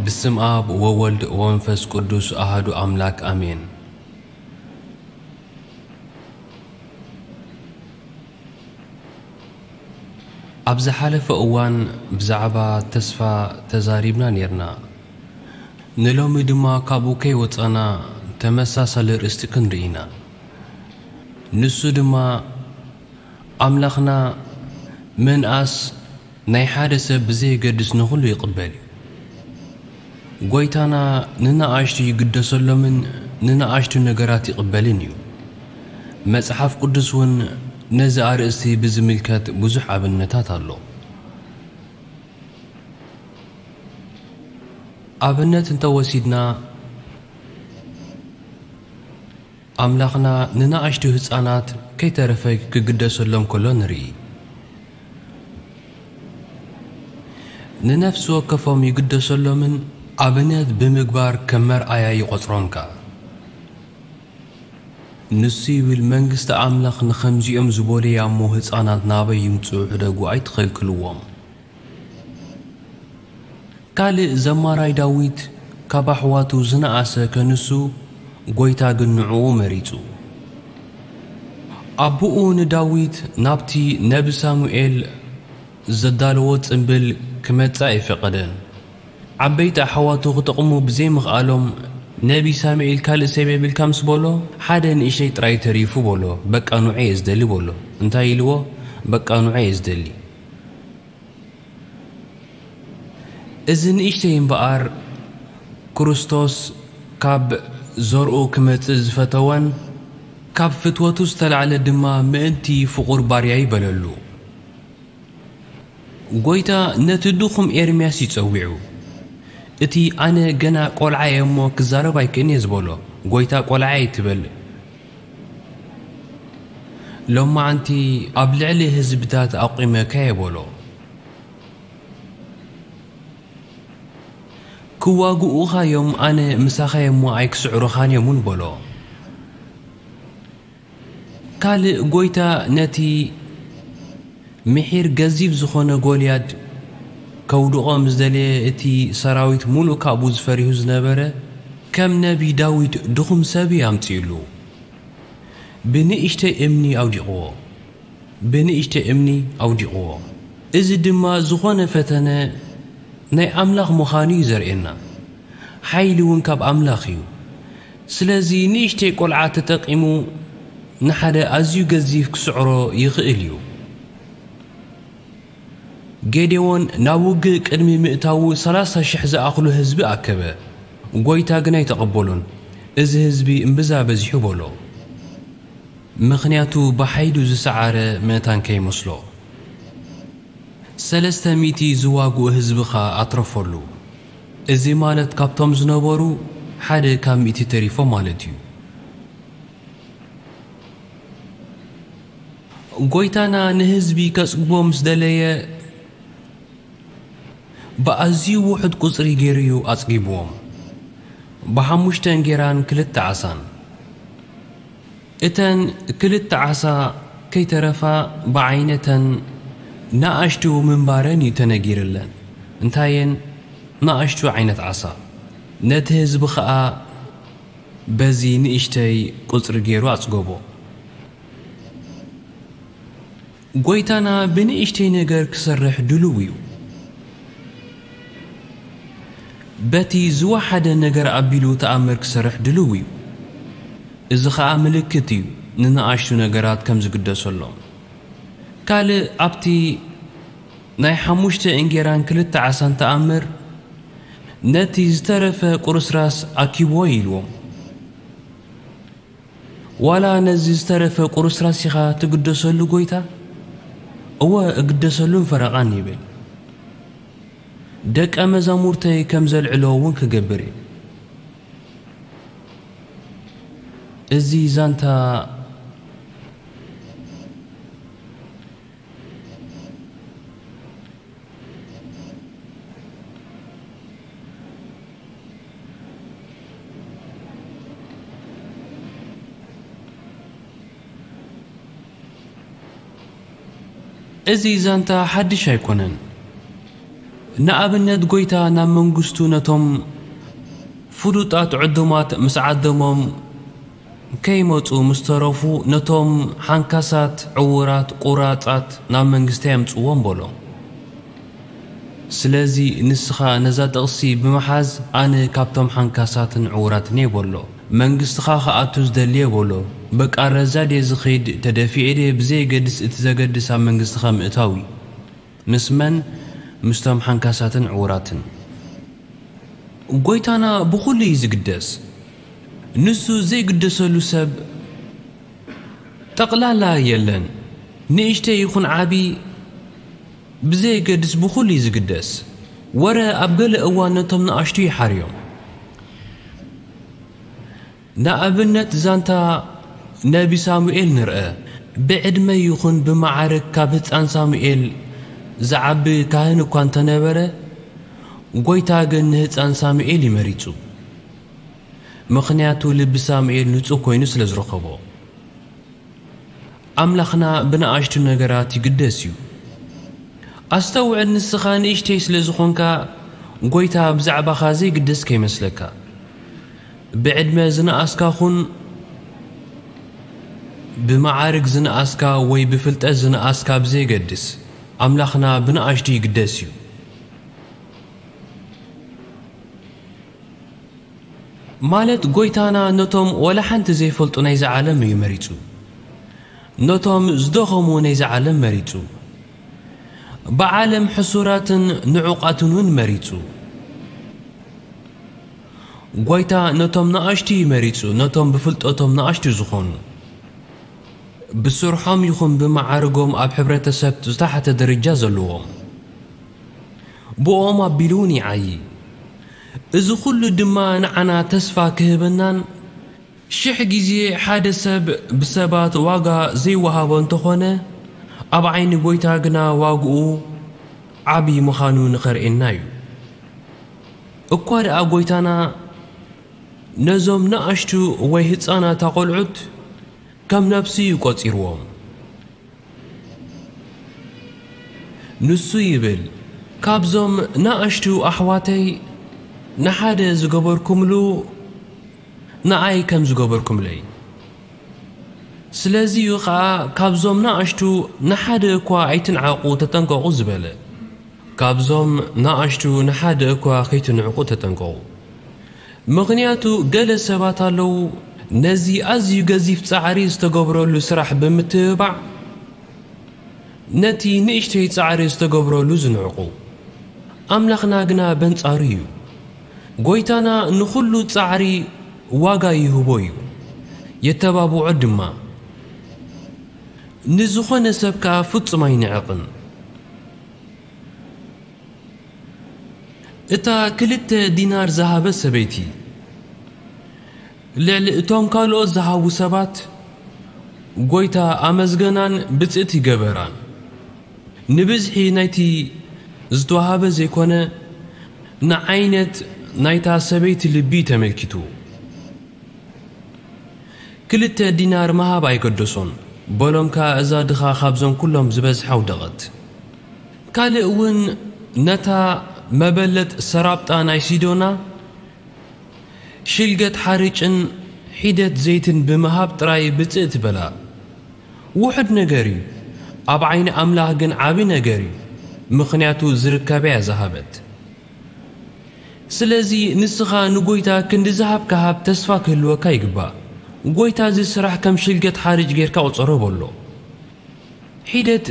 ብስም ኣብ ወወልድ ወመንፈስ ቅዱስ ኣሃዱ ኣምላክ ኣሜን። ኣብ ዝሓለፈ እዋን ብዛዕባ ተስፋ ተዛሪብና ኔርና። ንሎሚ ድማ ካብኡ ከይወጻና ተመሳሳሊ ርእስቲ ክንርኢ ኢና። ንሱ ድማ ኣምላኽና ምንኣስ ናይ ሓደ ሰብ ብዘየገድስ ንኹሉ ይቕበል እዩ። ጎይታና ንነኣሽቱ ይግደሰሎምን ንነኣሽቱ ነገራት ይቕበልን እዩ። መጽሓፍ ቅዱስ እውን ነዚ ኣርእስቲ ብዝምልከት ብዙሕ ኣብነታት ኣሎ። ኣብነት እንተወሲድና፣ ኣምላኽና ንነኣሽቱ ህጻናት ከይተረፈ ክግደሰሎም ከሎ ንርኢ። ንነፍሲ ወከፎም ይግደሰሎምን ኣብነት ብምግባር ከም መርኣያ ይቖጽሮም ከኣ። ንሱ ይብል፣ መንግስቲ ኣምላኽ ንኸምዚኦም ዝበሉያ እሞ ህጻናት ናበይ ይምጽኡ፣ ሕደጉ ኣይትኸልክልዎም። ካልእ ዘማራይ ዳዊት ካብ ኣሕዋቱ ዝነኣሰ ከንሱ፣ ጎይታ ግን ንዕኡ መሪጹ። ኣቦኡ ንዳዊት ናብቲ ነቢ ሳሙኤል ዘዳለዎ ጽምብል ክመጽእ ኣይፈቐደን። ዓበይቲ ኣሕዋቱ ክጠቕሙ ብዘይምኽኣሎም፣ ነቢ ሳሙኤል ካልእ ሰብ የብልካ ምስ በሎ፣ ሓደ ንእሽተይ ጥራይ ተሪፉ በሎ፣ በቃ ንዑ እየ ዝደሊ በሎ። እንታይ ኢልዎ? በቃ ንዑ እየ ዝደሊ። እዚ ንእሽተይ እምበኣር፣ ክርስቶስ ካብ ዘርኡ ክመጽእ ዝፈተወን፣ ካብ ፍትወቱ ዝተላዕለ ድማ ምእንቲ ፍቑር ባርያይ በለሉ። ጎይታ ነቲ ድኹም ኤርምያስ እዩ ጸዊዑ። እቲ ኣነ ገና ቆልዓ እየ እሞ ክዛረብ ኣይክእልን እየ ዝበሎ፣ ጎይታ ቆልዓ ኣይትበል። ሎማዓንቲ ኣብ ልዕሊ ህዝብታት ኣቑመካ እየ በሎ። ክዋግኡኻ እዮም፣ ኣነ ምሳኻ እየ እሞ ኣይክስዕሩኻን እዮም እውን በሎ። ካልእ ጎይታ ነቲ ምሒር ገዚፍ ዝኾነ ጎልያድ ከውድቖ ምስ ደለየ፣ እቲ ሰራዊት ሙሉእ ካብኡ ዝፈሪሁ ዝነበረ፣ ከም ነቢ ዳዊት ድኹም ሰብ እዩ ኣምጺኡሉ። ብንእሽተይ እምኒ ኣውዲቕዎ። ብንእሽተይ እምኒ ኣውዲቕዎ። እዚ ድማ ዝኾነ ፈተነ ናይ ኣምላኽ ምዃኑ እዩ ዘርእየና። ሓይሊ እውን ካብ ኣምላኽ እዩ። ስለዚ ንእሽተይ ቆልዓ ተጠቒሙ ንሓደ ኣዝዩ ገዚፍ ክስዕሮ ይኽእል እዩ። ጌዴዎን ናብ ውግእ ቅድሚ ምእታዉ ሰላሳ ሽሕ ዝኣኽሉ ህዝቢ ኣከበ። ጎይታ ግን ኣይተቐበሎን። እዚ ህዝቢ እምብዛ በዚሑ በሎ። ምኽንያቱ ብሓይሉ ዝሰዓረ መታን ከይመስሎ። ሰለስተ ሚእቲ ዝዋግኡ ህዝቢ ኸኣ ኣትረፈሉ። እዚ ማለት ካብቶም ዝነበሩ ሓደ ካብ ሚእቲ ተሪፎም ማለት እዩ። ጎይታና ንህዝቢ ከጽግቦ ምስ ደለየ፣ ብኣዝዩ ውሑድ ቁጽሪ ገይሩ እዩ ኣጽጊብዎም። ብሓሙሽተ እንጌራን ክልተ ዓሳን። እተን ክልተ ዓሳ ከይተረፋ ብዓይነተን ንኣሽቱ ምንባረን እዩ ተነጊርለን። እንታየን ንኣሽቱ ዓይነት ዓሳ። ነቲ ህዝቢ ኸኣ በዚ ንእሽተይ ቁጽሪ ገይሩ ኣጽገቦ። ጎይታና ብንእሽተይ ነገር ክሰርሕ ድሉው እዩ። በቲ ዝወሓደ ነገር ኣቢሉ ተኣምር ክሰርሕ ድሉው እዩ። እዚ ኸኣ ምልክት እዩ ንንኣሽቱ ነገራት ከም ዝግደሰሎም። ካልእ ኣብቲ ናይ ሓሙሽተ እንጌራን ክልተ ዓሳን ተኣምር ነቲ ዝተረፈ ቁርስራስ ኣኪብዎ ኢልዎም። ዋላ ነዚ ዝተረፈ ቁርስራስ ኢኻ ትግደሰሉ ጎይታ? እወ እግደሰሉን ፈረቓን ይብል። ደቀ መዛሙርተይ ከም ዘልዕሎ እውን ክገብር እዩ። እዚ ዛንታ እዚ ዛንታ ሓድሽ ኣይኮነን። ንኣብነት፣ ጐይታ ናብ መንግስቱ ነቶም ፍሉጣት ዕዱማት ምስ ዓደሞም ከይመጹ ምስ ተረፉ፣ ነቶም ሓንካሳት፣ ዕዉራት፣ ቁራጻት ናብ መንግስተይ ኣምጽዎም በሎም። ስለዚ ንስኻ ነዛ ጥቕሲ ብምሓዝ፣ ኣነ ካብቶም ሓንካሳትን ዕዉራትን እየ በሎ። መንግስትኻ ክኣቱ ዝደሊ እየ በሎ። ብቃረዛ ድየ ዝኸይድ፣ ተደፊኤ ድየ፣ ብዘየገድስ እቲ ዘገድስ ኣብ መንግስትኻ ምእታው እዩ። ምስ መን? ምስቶም ሓንካሳትን ዕዉራትን። ጐይታና ብኹሉ እዩ ዝግደስ። ንሱ ዘይግደሰሉ ሰብ ጠቕላላ የለን። ንእሽተይ ይኹን ዓቢ ብዘየገድስ ብኹሉ እዩ ዝግደስ። ወረ ኣብ ገለ እዋን ነቶም ንኣሽቱ ይሓርዮም። ንኣብነት ዛንታ ነቢ ሳሙኤል ንርአ። ብዕድመ ይኹን ብመዓርግ ካብ ህጻን ሳሙኤል ዝዓቢ ካህን እኳ እንተነበረ፣ ጐይታ ግን ንህጻን ሳሙኤል እዩ መሪጹ። ምኽንያቱ ልቢ ሳሙኤል ንጹህ ኮይኑ ስለ ዝረኸቦ። ኣምላኽና ብንኣሽቱ ነገራት ይግደስ እዩ። ኣስተውዕል፣ ንስኻ ንእሽተይ ስለ ዝኾንካ፣ ጐይታ ብዛዕባኻ ዘይግደስ ከይመስለካ። ብዕድመ ዝነኣስካ ኹን፣ ብመዓርግ ዝነኣስካ ወይ ብፍልጠት ዝነኣስካ ብዘየገድስ፣ ኣምላኽና ብንኣሽቱ ይግደስ እዩ። ማለት፣ ጐይታና ነቶም ወላ ሓንቲ ዘይፈልጡ ናይዚ ዓለም እዩ መሪጹ። ነቶም ዝደኸሙ ናይዚ ዓለም መሪጹ። ብዓለም ሕሱራትን ንዑቓትን እውን መሪጹ። ጐይታ ነቶም ንኣሽቱ እዩ መሪጹ፣ ነቶም ብፍልጠቶም ንኣሽቱ ዝኾኑ። ብስርሖም ይኹን ብመዓርጎም ኣብ ሕብረተሰብ ዝተሓተ ደረጃ ዘለዎም። ብኦም ኣቢሉ እውን ይዓዪ። እዚ ኹሉ ድማ ንዓና ተስፋ ክህበናን፣ ሽሕ ግዜ ሓደ ሰብ ብሰባት ዋጋ ዘይወሃቦ እንተኾነ፣ ኣብ ዓይኒ ጐይታ ግና ዋግኡ ዓቢ ምዃኑ ንኸርእየና እዩ። እኳ ደኣ ጐይታና ነዞም ንኣሽቱ ወይ ህጻናት ኣቖልዑት ከም ነፍሱ እዩ ቆጺርዎም። ንሱ ይብል፣ "ካብዞም ንኣሽቱ ኣሕዋተይ ንሓደ ዝገበርኩምሉ፣ ንኣይ ከም ዝገበርኩምለይ። ስለዚ እዩ ኸኣ፣ ካብዞም ንኣሽቱ ንሓደ እኳ ኣይትንዓቑ፣ ተጠንቀቑ" ዝበለ። ካብዞም ንኣሽቱ ንሓደ እኳ ከይትንዕቑ ተጠንቀቑ። ምኽንያቱ ገለ ሰባት ኣለዉ፣ ነዚ ኣዝዩ ገዚፍ ጻዕሪ ዝተገብረሉ ስራሕ ብምትብባዕ፣ ነቲ ንእሽተይ ጻዕሪ ዝተገብረሉ ዝንዕቑ። ኣምላኽና ግና በንጻሩ እዩ። ጐይታና ንኹሉ ጻዕሪ ዋጋ ይህቦ እዩ፣ የተባብዖ ድማ። ንዝኾነ ሰብ ከኣ ፍጹም ኣይንዕቕን። እታ ክልተ ዲናር ዝሃበት ሰበይቲ፣ ልዕሊ እቶም ካልኦት ዝሃቡ ሰባት፣ ጐይታ ኣመስገናን ብጽእቲ ገበራን። ንብዝሒ ናይቲ ዝተዋህበ ዘይኮነ፣ ንዓይነት ናይታ ሰበይቲ ልቢ ተመልኪቱ። ክልተ ዲናር ምሃብ ኣይገደሶን። በሎም ከኣ፣ እዛ ድኻ ካብዞም ኩሎም ዝበዝሐ ኣውደቐት። ካልእ እውን ነታ መበለት ሰራብጣ ናይ ሲዶና ሽልገት ሓርጭን ሒደት ዘይትን ብምሃብ ጥራይ ብጽእቲ በላ። ውሑድ ነገር እዩ፣ ኣብ ዓይኒ ኣምላኽ ግን ዓቢ ነገር እዩ፣ ምኽንያቱ ዝርከብ እያ ዝሃበት። ስለዚ ንስኻ ንጐይታ ክንዲ ዝሃብካ ሃብ፣ ተስፋ ክህልወካ ይግባእ። ጐይታ እዚ ስራሕ ከም ሽልገት ሓርጭ ጌርካ ቁጸሮ በሎ። ሒደት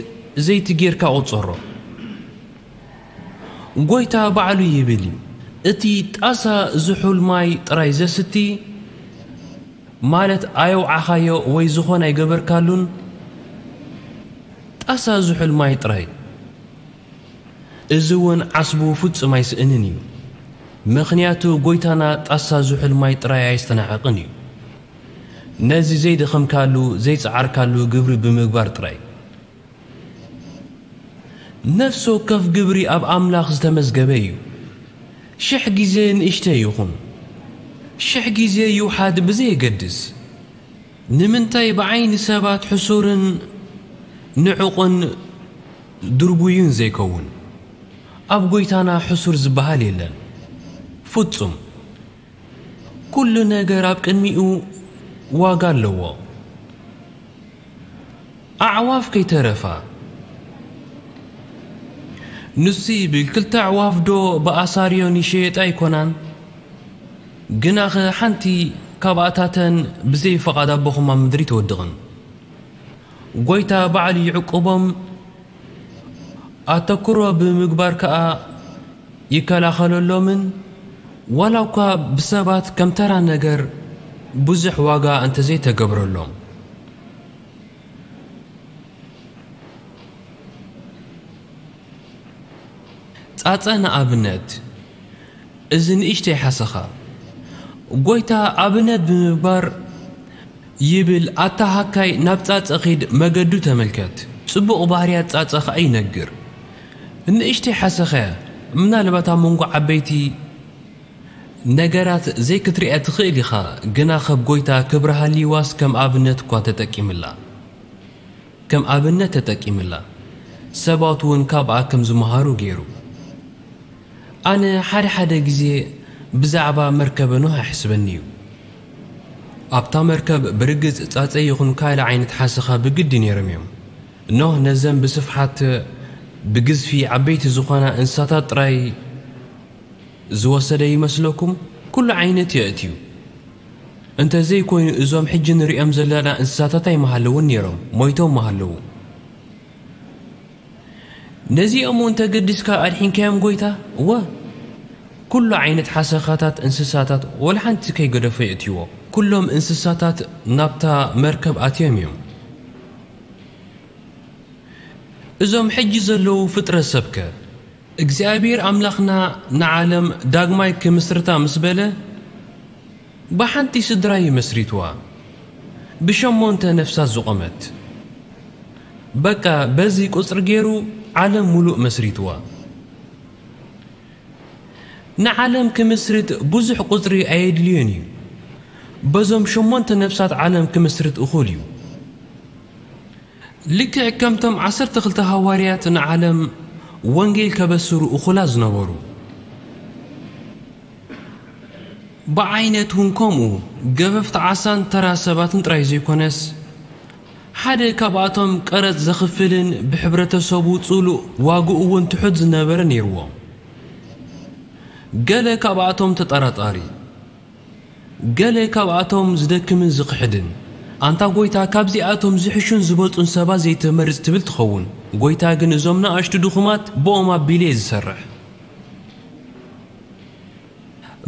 ዘይቲ ጌርካ ቁጸሮ። ጐይታ ባዕሉ ይብል እዩ፣ እቲ ጣሳ ዝሑል ማይ ጥራይ ዘስቲ፣ ማለት ኣየውዓኻዮ ወይ ዝኾነ ኣይገበርካሉን፣ ጣሳ ዝሑል ማይ ጥራይ። እዚ እውን ዓስቡ ፍጹም ኣይስእንን እዩ። ምኽንያቱ ጐይታና ጣሳ ዝሑል ማይ ጥራይ ኣየስተናዕቕን እዩ። ነዚ ዘይደኸምካሉ፣ ዘይጸዓርካሉ ግብሪ ብምግባር ጥራይ። ነፍሲ ወከፍ ግብሪ ኣብ ኣምላኽ ዝተመዝገበ እዩ። ሽሕ ግዜ ንእሽተይ ይኹን፣ ሽሕ ግዜ ይውሓድ ብዘየገድስ፣ ንምንታይ ብዓይኒ ሰባት ሕሱርን ንዑቕን ድርቡይን ዘይከውን? ኣብ ጎይታና ሕሱር ዝበሃል የለን። ፍጹም። ኩሉ ነገር ኣብ ቅድሚኡ ዋጋ ኣለዎ። ኣዕዋፍ ከይተረፋ። ንሱ ይብል፣ ክልተ ኣዕዋፍ ዶ ብኣሳርዮን ይሸየጣ ኣይኮናን? ግናኸ ሓንቲ ካብኣታተን ብዘይ ፍቓድ ኣቦኹም ኣብ ምድሪ ትወድቕን። ጎይታ ባዕሉ ይዕቁቦም፣ ኣተኩሮ ብምግባር ከኣ ይከላኸለሎምን፣ ዋላ እኳ ብሰባት ከም ተራ ነገር ብዙሕ ዋጋ እንተዘይተገብረሎም። ጻጸ ንኣብነት፣ እዚ ንእሽተይ ሓሰኻ፣ ጎይታ ኣብነት ብምግባር ይብል፣ ኣታ ሃካይ ናብ ጻጸ ኺድ፣ መገዱ ተመልከት፣ ጽቡቕ ባህርያት ጻጸ ኸኣ ይነግር። ንእሽተይ ሓሰኸ፣ ምናልባት ኣብ መንጎ ዓበይቲ ነገራት ዘይክትሪኣ ትኽእል ኢኻ፣ ግና ኸብ ጎይታ ክብሪ ሃልይዋስ ከም ኣብነት እኳ ተጠቂምላ። ከም ኣብነት ተጠቂምላ። ሰባት እውን ካብኣ ከም ዝመሃሩ ገይሩ። ኣነ ሓደ ሓደ ግዜ ብዛዕባ መርከበ ኖህ ኣሕስበኒ እዩ። ኣብታ መርከብ ብርግጽ ጻጸ ይኹን ካልእ ዓይነት ሓሰኻ ብግዲ ነይሮም እዮም። ኖህ ነዘን ብስፍሓት ብግዝፊ ዓበይቲ ዝኾና እንስሳታት ጥራይ ዝወሰደ ይመስለኩም? ኩሉ ዓይነት የእትዩ። እንተዘይኮይኑ እዞም ሕጂ ንሪኦም ዘለና እንስሳታት ኣይምሃለውን ነይሮም፣ ሞይቶም ምሃለዉ። ነዚኦም እውን ተገዲስካ ኣድሒንካዮም ጎይታ? እወ፣ ኩሉ ዓይነት ሓሰኻታት እንስሳታት ወላ ሓንቲ ከይገደፎ የእትይዎ። ኩሎም እንስሳታት ናብታ መርከብ ኣትዮም እዮም። እዞም ሕጂ ዘለዉ ፍጥረት ሰብከ? እግዚኣብሔር ኣምላኽና ንዓለም ዳግማይ ክምስርታ ምስ በለ፣ ብሓንቲ ስድራ እዩ መስሪትዋ። ብሸሞንተ ነፍሳት ዝቖመት። በቃ በዚ ቁጽሪ ገይሩ ዓለም ሙሉእ መስሪትዋ። ንዓለም ክምስርት ብዙሕ ቁጽሪ ኣየድልዮን እዩ። በዞም ሸሞንተ ነፍሳት ዓለም ክምስርት እኹል እዩ። ልክዕ ከምቶም ዓሰርተ ክልተ ሃዋርያት ንዓለም ወንጌል ከበስሩ እኹላት ዝነበሩ። ብዓይነት እውን ከምኡ ገፈፍቲ ዓሳን ተራ ሰባትን ጥራይ ዘይኮነስ፣ ሓደ ካብኣቶም ቀረጽ ዘኽፍልን ብሕብረተሰቡ ጽሉእ ዋግኡ እውን ትሑት ዝነበረ ነይርዎ። ገለ ካብኣቶም ተጠራጣሪ፣ ገለ ካብኣቶም ዝደክምን ዝኽሕድን። ኣንታ ጎይታ ካብዚኣቶም ዝሕሹን ዝበልጹን ሰባት ዘይትመርጽ ትብል ትኸውን። ጎይታ ግን እዞም ንኣሽቱ ድኹማት ብኦም ኣቢሉ እየ ዝሰርሕ።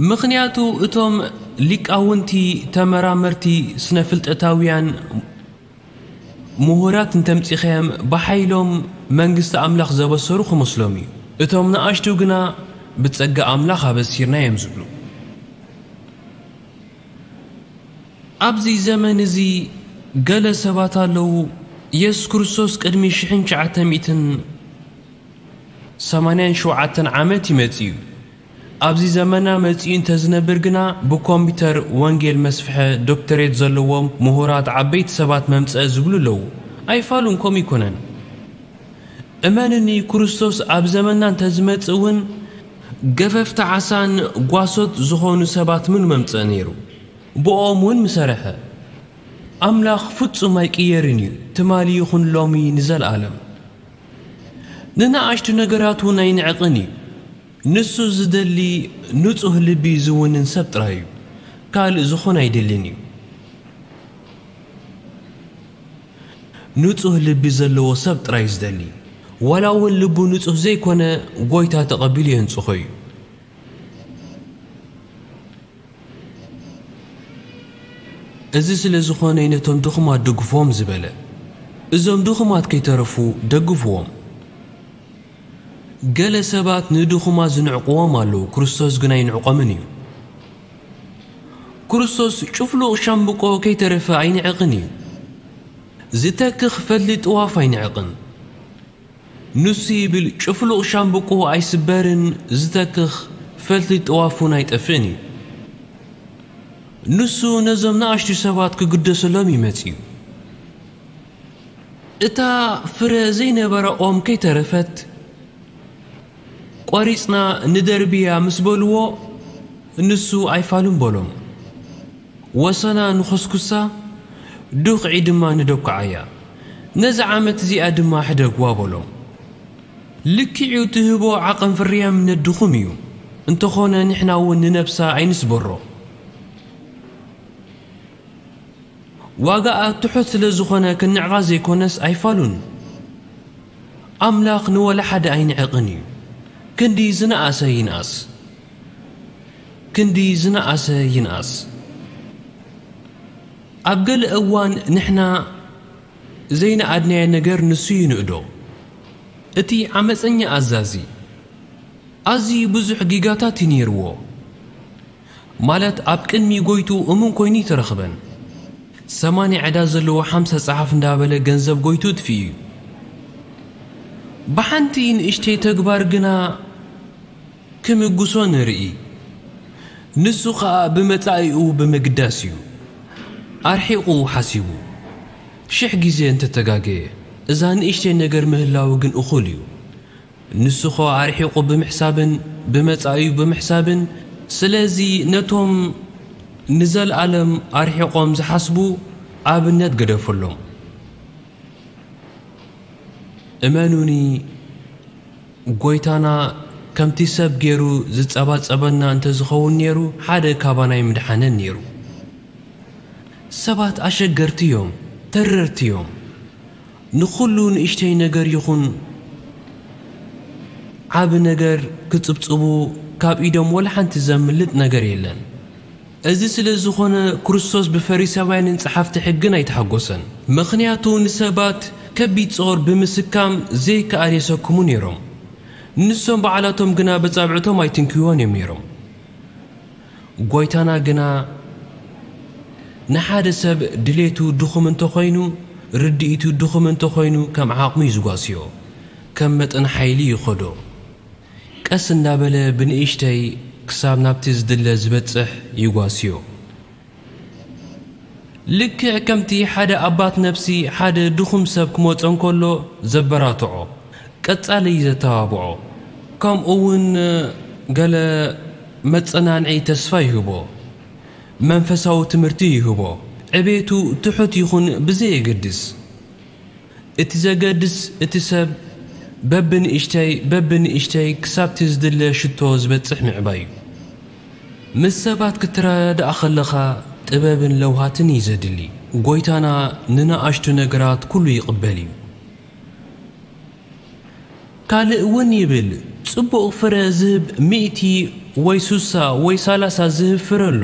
ምኽንያቱ እቶም ሊቃውንቲ፣ ተመራመርቲ፣ ስነ ፍልጠታውያን፣ ምሁራት እንተምጺኻዮም ብሓይሎም መንግስቲ ኣምላኽ ዘበሰሩ ክመስሎም እዩ። እቶም ንኣሽቱ ግና ብጸጋ ኣምላኽ ኣበሲርና እዮም ዝብሉ። ኣብዚ ዘመን እዚ ገለ ሰባት ኣለዉ፣ የሱስ ክርስቶስ ቅድሚ ሽሕን ትሽዓተ ሚእትን ሰማንያን ሸውዓተን ዓመት ይመጽእ እዩ። ኣብዚ ዘመና መጺኡ እንተዝነብር ግና ብኮምፒተር ወንጌል መስፍሐ ዶክተሬት ዘለዎም ምሁራት ዓበይቲ ሰባት መምጸአ ዝብሉ ኣለዉ። ኣይፋሉን ከምኡ ኣይኮነን። እመንኒ ክርስቶስ ኣብ ዘመንና እንተዝመጽእ እውን ገፈፍቲ ዓሳን ጓሶት ዝኾኑ ሰባት ምኑ መምጸአ ነይሩ። ብኦም እውን ምሰረሐ። ኣምላኽ ፍጹም ኣይቅየርን እዩ፣ ትማሊ ይኹን ሎሚ ንዘለኣለም። ንንኣሽቱ ነገራት እውን ኣይንዕቕን እዩ። ንሱ ዝደሊ ንጹህ ልቢ ዝውንን ሰብ ጥራይ እዩ። ካልእ ዝኾነ ኣይደልን እዩ። ንጹህ ልቢ ዘለዎ ሰብ ጥራይ እዩ ዝደሊ። ዋላ እውን ልቡ ንጹህ ዘይኮነ ጎይታ ተቐቢሉ የንጽሆ እዩ። እዚ ስለ ዝኾነ እዩ ነቶም ድኹማት ደግፍዎም ዝበለ። እዞም ድኹማት ከይተረፉ ደግፍዎም። ገለ ሰባት ንድኹማት ዝንዕቅዎም ኣለዉ፣ ክርስቶስ ግን ኣይንዕቆምን እዩ። ክርስቶስ ጭፍሉቕ ሻምብቆ ከይተረፈ ኣይንዕቕን እዩ። ዝተክኽ ፈትሊ ጥዋፍ ኣይንዕቕን። ንሱ ይብል፣ ጭፍሉቕ ሻምብቆ ኣይስበርን፣ ዝተክኽ ፈትሊ ጥዋፍ እውን ኣይጠፍእን እዩ። ንሱ ነዞም ንኣሽቱ ሰባት ክግደሰሎም እዩ መጺኡ። እታ ፍረ ዘይነበራ ኦም ከይተረፈት፣ ቆሪጽና ንደርብያ ምስ በልዎ፣ ንሱ ኣይፋሉን በሎም። ወሰና ንኾስኩሳ፣ ዱኽዒ ድማ ንደኩዓያ። ነዚ ዓመት እዚኣ ድማ ሕደግዋ በሎም። ልክዕ እዩ፣ ትህቦ ዓቐን ፍርያምነት ድኹም እዩ። እንተኾነ ንሕና እውን ንነብሳ ኣይንስበሮ። ዋጋኣ ትሑት ስለ ዝኾነ ክንዕቓ ዘይኮነስ ኣይፋሉን። ኣምላኽ ንወላ ሓደ ኣይንዕቕን እዩ። ክንዲ ዝነኣሰ ይንኣስ። ክንዲ ዝነኣሰ ይንኣስ። ኣብ ገለ እዋን ንሕና ዘይነኣድናዮ ነገር ንሱ ይንእዶ። እቲ ዓመፀኛ ኣዛዚ ኣዝዩ ብዙሕ ጊጋታት እዩ ነይርዎ። ማለት ኣብ ቅድሚ ጎይቱ እሙን ኮይኑ ይተረኽበን። ሰማንያ ዕዳ ዘለዎ ሓምሳ ጸሓፍ እንዳበለ ገንዘብ ጎይቱ እጥፊኡ እዩ። ብሓንቲ ንእሽተይ ተግባር ግና ክምጉሶ ንርኢ። ንሱ ኸኣ ብመጻኢኡ ብምግዳስ እዩ ኣርሒቑ ሓሲቡ። ሽሕ ግዜ እንተተጋገየ፣ እዛ ንእሽተይ ነገር ምህላው ግን እኹል እዩ። ንሱ ኸኣ ኣርሒቑ ብምሕሳብን ብመጻኢኡ ብምሕሳብን፣ ስለዚ ነቶም ንዘለኣለም ኣርሒቖም ዝሓስቡ ኣብነት ገደፈሎም። እመኑኒ፣ ጎይታና ከምቲ ሰብ ገይሩ ዝጸባጸበና እንተዝኸውን ነይሩ፣ ሓደ ካባና ኣይምድሓነን ነይሩ። ሰባት ኣሸገርቲ እዮም፣ ተረርቲ እዮም። ንኹሉ ንእሽተይ ነገር ይኹን ዓቢ ነገር ክጽብጽቡ ካብ ኢዶም ወላ ሓንቲ ዘምልጥ ነገር የለን። እዚ ስለ ዝኾነ ክርስቶስ ብፈሪሳውያንን ጸሓፍቲ ሕግን ኣይተሓጎሰን። ምኽንያቱ ንሰባት ከቢድ ጾር ብምስካም ዘይከኣል የሰክሙ ነይሮም። ንሶም ባዕላቶም ግና በጻብዕቶም ኣይትንክይዎን እዮም ነይሮም። ጎይታና ግና ንሓደ ሰብ ድሌቱ ድኹም እንተኾይኑ፣ ርድኢቱ ድኹም እንተኾይኑ ከም ዓቕሙ እዩ ዝጓስዮ። ከም መጠን ሓይሊ ይኸዶ። ቀስ እንዳበለ ብንእሽተይ ክሳብ ናብቲ ዝድለ ዝበጽሕ ይጓስዮ። ልክዕ ከምቲ ሓደ ኣባት ነፍሲ ሓደ ድኹም ሰብ ክመጾ እንከሎ ዘበራትዖ፣ ቀጻሊ ዘተባብዖ፣ ከምኡ እውን ገለ መጸናንዒ ተስፋ ይህቦ፣ መንፈሳዊ ትምህርቲ ይህቦ። ዕቤቱ ትሑት ይኹን ብዘየገድስ፣ እቲ ዘገድስ እቲ ሰብ በብንእሽተይ በብንእሽተይ ክሳብቲ ዝድለ ሽቶ ዝበጽሕ ምዕባይ እዩ። ምስ ሰባት ክትረዳእ ከለኻ ጥበብን ለውሃትን እዩ ዘድሊ። ጎይታና ንነኣሽቱ ነገራት ኩሉ ይቕበል እዩ። ካልእ እውን ይብል፣ ጽቡቕ ፍረ ዝህብ ሚእቲ ወይ ሱሳ ወይ ሰላሳ ዝህብ ፍረ ኣሎ።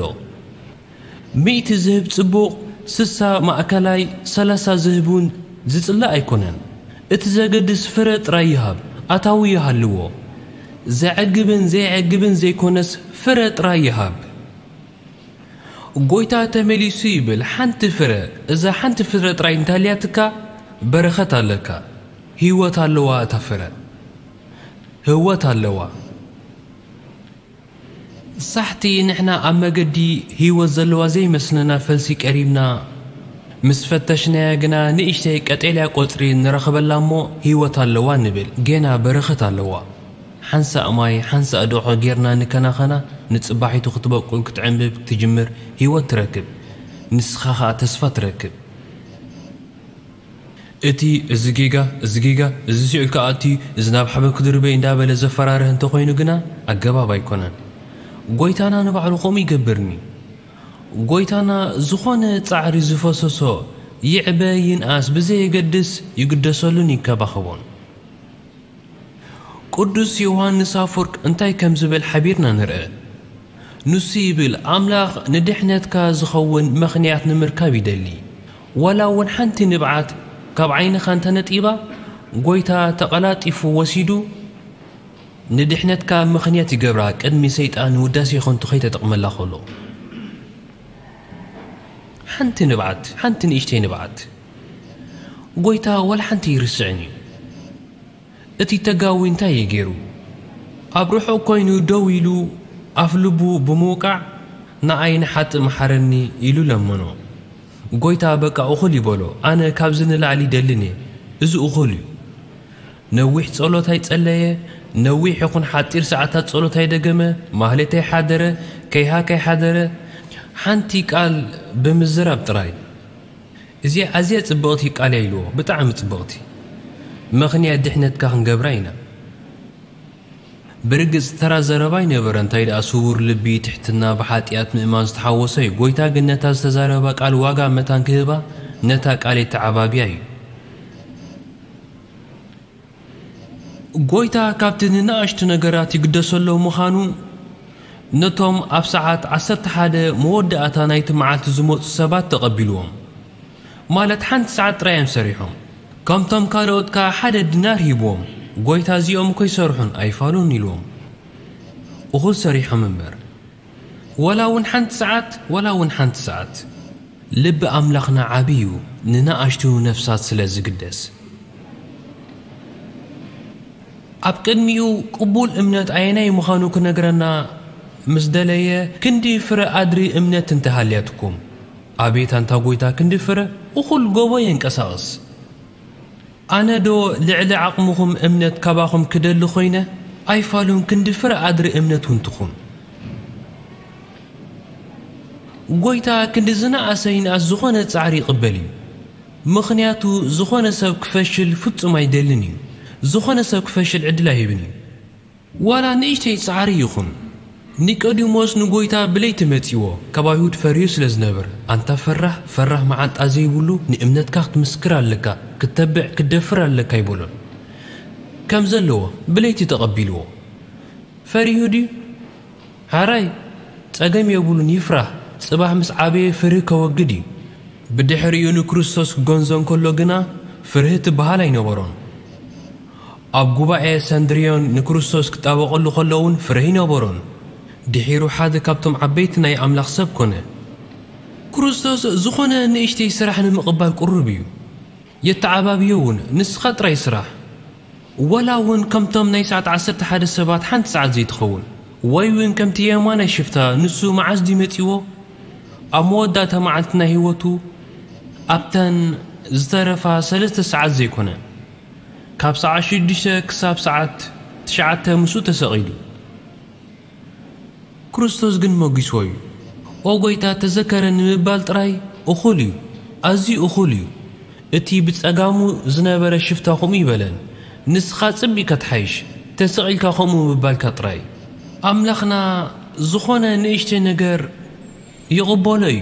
ሚእቲ ዝህብ ጽቡቕ፣ ስሳ ማእከላይ፣ ሰላሳ ዝህብ እውን ዝጽላእ ኣይኮነን። እቲ ዘገድስ ፍረ ጥራይ ይሃብ፣ ኣታዊ ይሃልዎ። ዘዕግብን ዘይዕግብን ዘይኮነስ ፍረ ጥራይ ይሃብ። ጎይታ ተመሊሱ ይብል፣ ሓንቲ ፍረ፣ እዛ ሓንቲ ፍረ ጥራይ እንተልያትካ በረኸት ኣለካ። ህይወት ኣለዋ እታ ፍረ። ህይወት ኣለዋ። ሳሕቲ ንሕና ኣብ መገዲ ህይወት ዘለዋ ዘይመስለና ፈልሲ ቀሪብና ምስ ፈተሽናያ ግና ንእሽተይ ቀጤልያ ቆጽሪ ንረኽበላ እሞ ህይወት ኣለዋ ንብል። ጌና በረኸት ኣለዋ። ሓንሳእ ማይ፣ ሓንሳእ ደቖ ጌርና ንከናኸና፣ ንጽባሒቱ ክትበቁል፣ ክትዕንብብ፣ ክትጅምር ህይወት ትረክብ። ንስኻ ኸኣ ተስፋ ትረክብ። እቲ እዚ ጌጋ፣ እዚ ጌጋ፣ እዚ ሲኦል ክኣቱ እዩ፣ እዚ ናብ ሓበን ክድርበ እዩ እንዳበለ ዘፈራርህ እንተኾይኑ ግና ኣገባብ ኣይኮነን። ጎይታና ንባዕሉ ከምኡ ይገብርኒ። ጎይታና ዝኾነ ጻዕሪ ዝፈሰሶ ይዕበ ይንኣስ ብዘየገድስ ይግደሰሉን ይከባኸቦን። ቅዱስ ዮሃንስ ኣፈወርቅ እንታይ ከም ዝብል ሓቢርና ንርአ። ንሱ ይብል፣ ኣምላኽ ንድሕነትካ ዝኸውን ምኽንያት ንምርካብ ይደሊ። ዋላ እውን ሓንቲ ንብዓት ካብ ዓይንኻ እንተነጢባ፣ ጎይታ ተቐላጢፉ ወሲዱ ንድሕነትካ ምኽንያት ይገብራ፣ ቅድሚ ሰይጣን ንውዳሴ ከንቱ ከይተጠቕመላ ከሎ። ሓንቲ ንብዓት፣ ሓንቲ ንእሽተይ ንብዓት ጎይታ ዋላ ሓንቲ ይርስዕን እዩ። እቲ ተጋዊ እንታይ እዩ ገይሩ? ኣብ ርሑቕ ኮይኑ ደው ኢሉ ኣፍ ልቡ ብምውቃዕ፣ "ንኣይ ንሓጢ መሓረኒ" ኢሉ ለመኖ። ጎይታ በቃ እኹል ይበሎ፣ "ኣነ ካብዚ ንላዕሊ ይደልን እየ፣ እዚ እኹል እዩ። ነዊሕ ጸሎት ኣይጸለየ፣ ነዊሕ ይኹን ሓጺር ሰዓታት ጸሎት ኣይደገመ፣ ማህሌት ኣይሓደረ፣ ከይሃ ከይሓደረ፣ ሓንቲ ቃል ብምዝራብ ጥራይ። እዚኣ ኣዝያ ጽብቕቲ ቃል እያ ኢልዎ፣ ብጣዕሚ ጽብቕቲ። ምኽንያት ድሕነትካ ክንገብራ ኢና። ብርግጽ ተራ ዘረባ ኣይነበረ፣ እንታይ ደኣ ስውር ልቢ፣ ትሕትና፣ ብሓጢኣት ምእማን ዝተሓወሰ እዩ። ጎይታ ግን ነታ ዝተዛረባ ቃል ዋጋ መታን ክህባ ነታ ቃል የተዓባብያ እዩ። ጎይታ ካብቲ ንንኣሽቱ ነገራት ይግደሰሎም ምዃኑ ነቶም ኣብ ሰዓት ዓሰርተ ሓደ መወዳእታ ናይቲ መዓልቲ ዝመጹ ሰባት ተቐቢልዎም። ማለት ሓንቲ ሰዓት ጥራይ እዮም ሰሪሖም። ከምቶም ካልኦት ከኣ ሓደ ዲናር ሂብዎም። ጎይታ እዚኦም እኮ ይሰርሑን ኣይፋሉን ኢልዎም። እኹል ሰሪሖም እምበር። ወላ እውን ሓንቲ ሰዓት፣ ወላ እውን ሓንቲ ሰዓት። ልቢ ኣምላኽና ዓቢ እዩ፣ ንንኣሽቱ ነፍሳት ስለ ዝግደስ። ኣብ ቅድሚኡ ቅቡል እምነት ኣየናይ ምዃኑ ክነግረና ምስ ደለየ፣ ክንዲ ፍረ ኣድሪ እምነት እንተሃልያትኩም፣ ኣቤት ኣንታ ጎይታ ክንዲ ፍረ፣ እኹል ጎቦ የንቀሳቕስ። ኣነ ዶ ልዕሊ ዓቕምኹም እምነት ካባኹም ክደሊ ኾይነ? ኣይፋሉን ክንዲ ፍረ ኣድሪ እምነት እውን ትኹን። ጎይታ ክንዲ ዝነኣሰ ይንኣስ ዝኾነ ጻዕሪ ይቕበል እዩ። ምኽንያቱ ዝኾነ ሰብ ክፈሽል ፍጹም ኣይደልን እዩ። ዝኾነ ሰብ ክፈሽል ዕድል ኣይህብን እዩ። ዋላ ንእሽተይ ጻዕሪ ይኹን። ኒቆዲሞስ ንጎይታ ብለይቲ መጺዎ፣ ካብ ኣይሁድ ፈርዩ ስለ ዝነበር፣ ኣንታ ፈራህ፣ ፈራህ መዓንጣ ዘይብሉ፣ ንእምነትካ ክትምስክር ኣለካ፣ ክትተብዕ፣ ክትደፍር ኣለካ ኣይበሎን። ከም ዘለዎ ብለይቲ ተቐቢልዎ። ፈሪሁ ድዩ? ሓራይ፣ ጸገም የብሉን፣ ይፍራህ። ጽባሕ ምስ ዓበየ ፍርሂ ከወግድ እዩ። ብድሕሪኡ ንክርስቶስ ክገንዞ እንከሎ ግና ፍርሂ ትበሃል ኣይነበሮን። ኣብ ጉባኤ ሰንድርዮን ንክርስቶስ ክጣበቐሉ ከሎ እውን ፍርሂ ነበሮን። ድሒሩ ሓደ ካብቶም ዓበይቲ ናይ ኣምላኽ ሰብ ኮነ። ክርስቶስ ዝኾነ ንእሽተይ ስራሕ ንምቕባል ቅሩብ እዩ። የተዓባብዮ እውን፣ ንስኻ ጥራይ ስራሕ። ወላ እውን ከምቶም ናይ ሰዓት ዓሰርተ ሓደ ሰባት ሓንቲ ሰዓት ዘይትኸውን፣ ወይ እውን ከምቲ የማናይ ሽፍታ፣ ንሱ መዓስ ድዩ መጺዎ? ኣብ መወዳእታ መዓልቲ ናይ ህይወቱ፣ ኣብተን ዝተረፋ ሰለስተ ሰዓት ዘይኮነ፣ ካብ ሰዓት ሽዱሽተ ክሳብ ሰዓት ትሽዓተ ምስኡ ተሰቒሉ። ክርስቶስ ግን መጒስዎ እዩ። "ኦ ጐይታ፣ ተዘከረኒ" ምባል ጥራይ እኹል እዩ፣ ኣዝዩ እኹል እዩ። እቲ ብጸጋሙ ዝነበረ ሽፍታ ከምኡ ይበለን፣ "ንስኻ ጽብቕ ኢኻ ትሓይሽ፣ ተሰቒልካ ከምኡ ምባልካ ጥራይ።" ኣምላኽና ዝኾነ ንእሽተይ ነገር ይቕበሎ እዩ።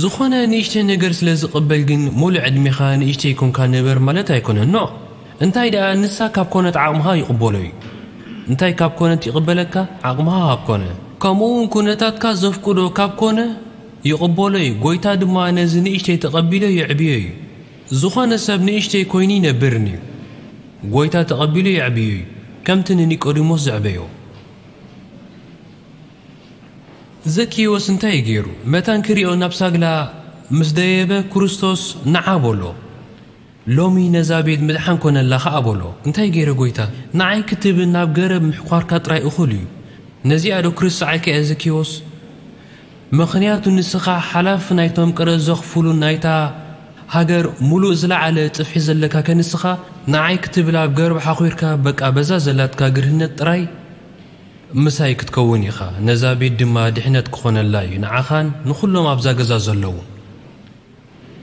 ዝኾነ ንእሽተይ ነገር ስለ ዝቕበል ግን፣ ሙሉእ ዕድሜኻ ንእሽተይ ኮንካ ንበር ማለት ኣይኮነን። ኖ። እንታይ ደኣ፣ ንሳ ካብ ኮነት ዓቕምኻ ይቕበሎ እዩ። እንታይ ካብ ኮነት ይቕበለካ? ዓቕምኻ ካብ ኮነ። ከምኡ እውን ኩነታትካ ዘፍቅዶ ካብ ኮነ ይቕበሎ እዩ። ጐይታ ድማ ነዚ ንእሽተይ ተቐቢሎ የዕብዮ እዩ። ዝኾነ ሰብ ንእሽተይ ኮይኑ ይነብርን እዩ። ጐይታ ተቐቢሉ የዕብዮ እዩ፣ ከምቲ ንኒቆዲሞስ ዘዕበዮ። ዘኪዎስ እንታይ እዩ ገይሩ? መታን ክሪኦ ናብ ሳግላ ምስ ደየበ፣ ክርስቶስ ንዓ በሎ። "ሎሚ ነዛ ቤት ምድሓን ኮነላ" ኸኣ በሎ። እንታይ ገይረ ጐይታ? ንዓይ ክትብል ናብ ገረብ ምሕኳርካ ጥራይ እኹል እዩ። ነዚኣ ዶ ክርስዓልካ እያ ዘኪዎስ? ምኽንያቱ ንስኻ ሓላፊ ናይቶም ቀረጽ ዘኽፍሉ ናይታ ሃገር ሙሉእ ዝለዓለ ጽፍሒ ዘለካ ከ ንስኻ ንዓይ ክትብል ኣብ ገረብ ሓኹርካ በቃ በዛ ዘላትካ ግርህነት ጥራይ ምሳይ ክትከውን ኢኻ። ነዛ ቤት ድማ ድሕነት ክኾነላ እዩ፣ ንዓኻን ንኹሎም ኣብዛ ገዛ ዘለዉ።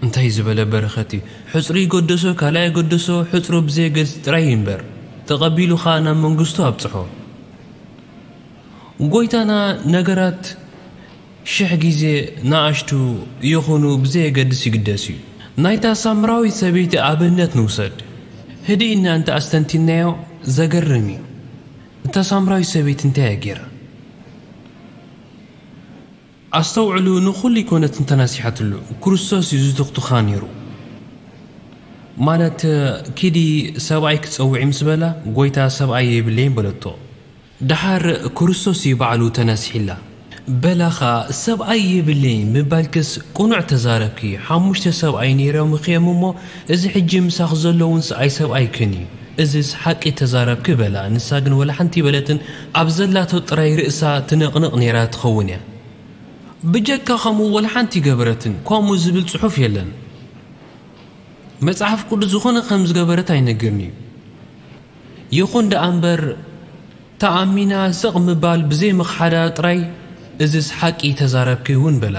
እንታይ ዝበለ በረኸት እዩ! ሕጽሩ ይገደሶ፣ ካልኣይ ይገደሶ፣ ሕጽሩ ብዘየገድስ ጥራይ ይንበር። ተቐቢሉ ኸኣ ናብ መንግስቱ ኣብጽሖ። ጐይታና ነገራት ሽሕ ግዜ ንኣሽቱ ይኹኑ ብዘየገድስ ይግደስ እዩ። ናይታ ሳምራዊት ሰበይቲ ኣብነት ንውሰድ። ህድእ ኢልና እንተ ኣስተንቲንናዮ ዘገርም እዩ። እታ ሳምራዊት ሰበይቲ እንታይ እያ ገይራ? ኣስተውዕሉ፣ ንኹሉ ኣይኮነትን ተናሲሓትሉ፣ ክርስቶስ እዩ ዝትኽትኻ ነይሩ። ማለት፣ "ኪዲ ሰብኣይ ክጸውዒ" ምስ በላ፣ "ጐይታ፣ ሰብኣይ የብለይን" በለቶ። ደሓር ክርስቶስ እዩ ባዕሉ ተናሲሒላ። በላኻ፣ "ሰብኣይ የብለይን" ምባልክስ ቅኑዕ ተዛረብኪ። ሓሙሽተ ሰብኣይ ነይሮምኺ እዮም እሞ፣ እዚ ሕጂ ምሳኺ ዘለዉን ሰኣይ ሰብኣይክን እዩ። እዚስ ሓቂ ተዛረብኪ በላ። ንሳ ግን ወላ ሓንቲ ኣይበለትን፣ ኣብ ዘላቶ ጥራይ ርእሳ ትነቕንቕ ነይራ ትኸውን እያ። ብጀካ ከምኡ ወላ ሓንቲ ኣይገበረትን። ከምኡ ዝብል ጽሑፍ የለን። መጽሓፍ ቅዱስ ዝኾነ ከም ዝገበረት ኣይነግርን እዩ። ይኹን ደኣ እምበር፣ ተኣሚና ስቕ ምባል ብዘይ ምኽሓዳ ጥራይ፣ "እዝስ ሓቂ ተዛረብኪ እውን" በላ።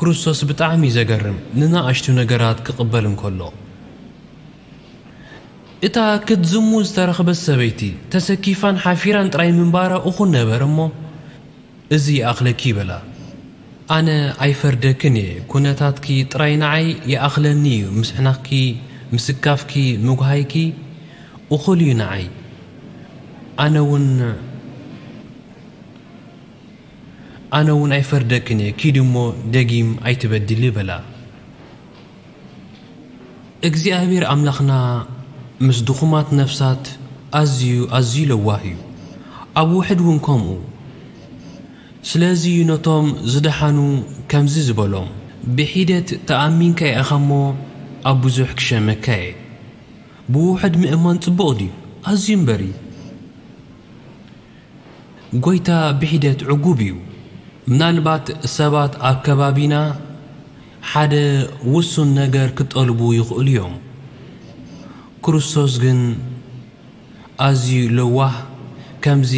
ክርስቶስ ብጣዕሚ እዩ ዘገርም፣ ንናእሽቱ ነገራት ክቕበል እንከሎ። እታ ክትዝሙ ዝተረኽበት ሰበይቲ፣ ተሰኪፋን ሓፊራን ጥራይ ምንባራ እኹል ነበር እሞ፣ "እዚ ይኣኽለኪ" በላ። ኣነ ኣይፈርደክን እየ፣ ኩነታትኪ ጥራይ ንዓይ ይኣኽለኒ እዩ፣ ምስሕናኽኪ፣ ምስካፍኪ፣ ምጉሃይኪ እኹል እዩ ንዓይ። ኣነ እውን፣ ኣነ እውን ኣይፈርደክን እየ፣ ኪዲ እሞ ደጊም ኣይትበድሊ በላ። እግዚኣብሔር ኣምላኽና ምስ ድኹማት ነፍሳት ኣዝዩ፣ ኣዝዩ ለዋህ እዩ። ኣብ ውሕድ እውን ከምኡ። ስለዚ እዩ ነቶም ዝደሓኑ ከምዚ ዝበሎም፣ "ብሒደት ተኣሚንካ ኢኻ እሞ ኣብ ብዙሕ ክሸመካ እየ።" ብውሕድ ምእማን ጽቡቕ ድዩ? ኣዝዩ እምበር እዩ። ጎይታ ብሒደት ዕጉብ እዩ። ምናልባት ሰባት ኣብ ከባቢና ሓደ ውሱን ነገር ክጠልቡ ይኽእሉ እዮም። ክርስቶስ ግን ኣዝዩ ለዋህ፣ ከምዚ